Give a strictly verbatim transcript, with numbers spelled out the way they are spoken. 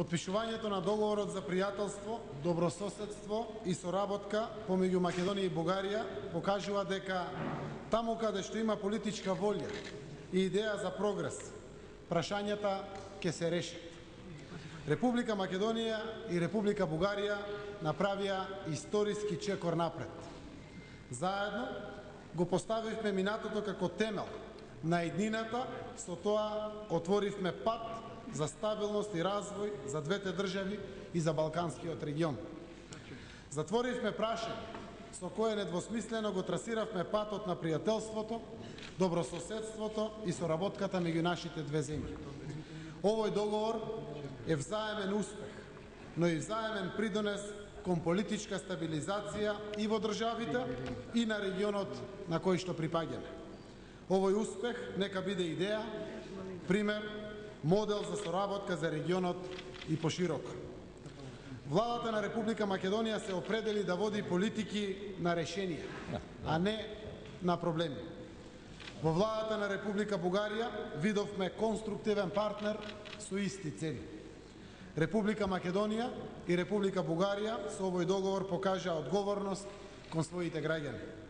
Потпишувањето на договорот за пријателство, добрососедство и соработка помеѓу Македонија и Бугарија покажува дека таму каде што има политичка волја и идеја за прогрес, прашањата ќе се решат. Република Македонија и Република Бугарија направија историски чекор напред. Заедно го поставивме минатото како темел на еднината, со тоа отворивме пат за стабилност и развој за двете држави и за Балканскиот регион. Затворивме прашање со кое недвосмислено го трасиравме патот на пријателството, добрососедството и соработката меѓу нашите две земји. Овој договор е взаемен успех, но и взаемен придонес кон политичка стабилизација и во државите и на регионот на кој што припаѓаме. Овој успех нека биде идеја, пример, модел за соработка за регионот и пошироко. Владата на Република Македонија се определи да води политики на решенија, а не на проблеми. Во владата на Република Бугарија видовме конструктивен партнер со исти цели. Република Македонија и Република Бугарија со овој договор покажаа одговорност кон своите граѓани.